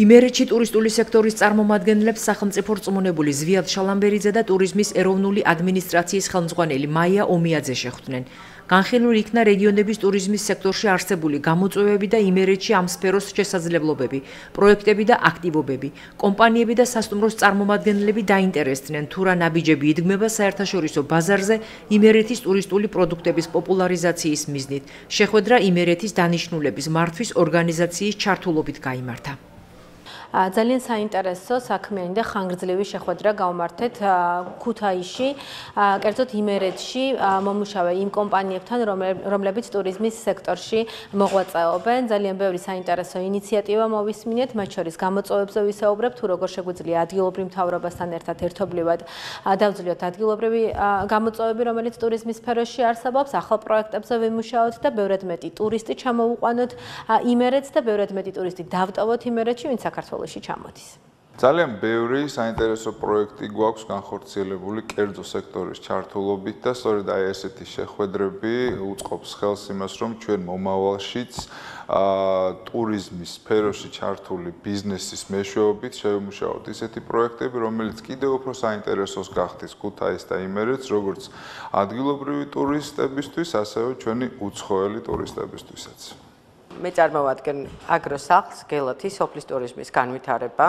იმერეთში ტურისტული სექტორის წარმომადგენლებს სახელმწიფო რწმუნებული ზვიად შალამბერიძე და ტურიზმის ეროვნული ადმინისტრაციის ხელმძღვანელი მაია ომიაძე შეხვდნენ. განხილული იქნა რეგიონების ტურიზმის სექტორში არსებული გამოწვევები და იმერეთში ამ სფეროს შესაძლებლობები, პროექტები და აქტივობები. კომპანიები და სასტუმროს წარმომადგენლები დაინტერესდნენ, თუ რა ნაბიჯები იდგმება საერთაშორისო ბაზარზე იმერეთის ტურისტული პროდუქტების პოპულარიზაციის მიზნით. შეხვედრა იმერეთის დანიშნულების მართვის ორგანიზაციის ჩართულობით გაიმართა. ძალიან საინტერესო საქმიანი და ხანგრძლივი შეხვედრა გავმართეთ ქუთაისში, კერძოდ იმერეთში მომუშავე იმ კომპანიებთან, რომლებიც ტურიზმის სექტორში მოღვაწეობენ. ძალიან ბევრი საინტერესო ინიციატივა მოვისმინეთ, მათ შორის გამოწვევებზე ვისაუბრებთ, თუ როგორ შეგვიძლია ადგილობრივ მთავრობასთან ერთად ერთობლივად დავძლიოთ ადგილობრივი გამოწვევები, რომელიც ტურიზმის სფეროში არსებობს, ახალ პროექტებზე ვიმუშაოთ და ბევრად მეტი ტურისტი ჩამოუყვანოთ იმერეთს და ბევრად მეტი ტურისტი დავტოვოთ იმერეთში, ვინც საქართველოში ჩამოდის. ძალიან ბევრი საინტერესო პროექტი გვაქვს განხორციელებული კერძო სექტორის ჩართულობით და სწორედ აი ესეთი შეხვედრები უწყობს ხელს იმას, რომ ჩვენ მომავალშიც ტურიზმის სფეროში ჩართული ბიზნესის მეშვეობით შევიმუშაოთ ისეთი პროექტები, რომელიც კიდევ უფრო საინტერესოს გახდის ქუთაისს და იმერეთს, როგორც ადგილობრივი ტურისტებისთვის, ასევე ჩვენი უცხოელი ტურისტებისთვისაც. მე წარმოვადგენ აგროსახლს, გელათის სოფლის ტურიზმის განვითარება.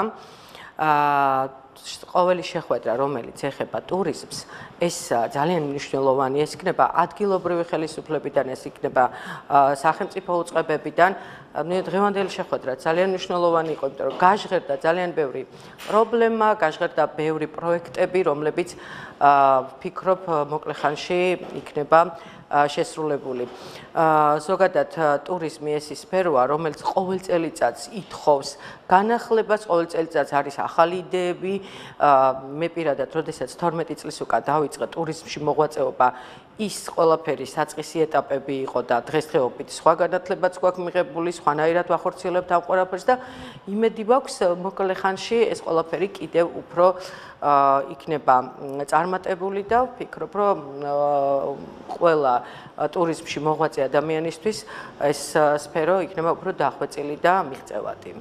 ყოველი შეხვედრა, რომელიც ეხება ტურიზმს, ეს ძალიან მნიშვნელოვანი, ეს იქნება ადგილობრივი ხელისუფლებიდან, ეს იქნება სახელმწიფო უწყებებიდან. დღევანდელი შეხვედრა ძალიან მნიშვნელოვანი იყო, იმიტომ რომ გაჟღერდა ძალიან ბევრი პრობლემა, გაჟღერდა ბევრი პროექტები, რომლებიც ვფიქრობ, მოკლე ხანში იქნება შესრულებული. ზოგადად ტურიზმი ეს სფეროა, რომელიც ყოველ წელიწადს ითხოვს განახლებას, ყოველ წელიწადს არის ახალი იდეები. მე პირადად, როდესაც 12 წლის უკან დავიწყე ტურიზმში მოღვაწეობა, ის ყველაფერი საწყისი ეტაპები იყო და დღესდღეობით სხვა განათლებაც გვაქვს მიღებული, სხვანაირად ვახორციელებთ ამ ყველაფერს და იმედი მაქვს მოკლე ხანში ეს ყველაფერი კიდევ უფრო იქნება წარმატებული და ვფიქრობ, რომ ყველა ტურიზმში მოღვაწე ადამიანისთვის ეს სფერო იქნება უფრო დახვეწილი და მიღწევადი.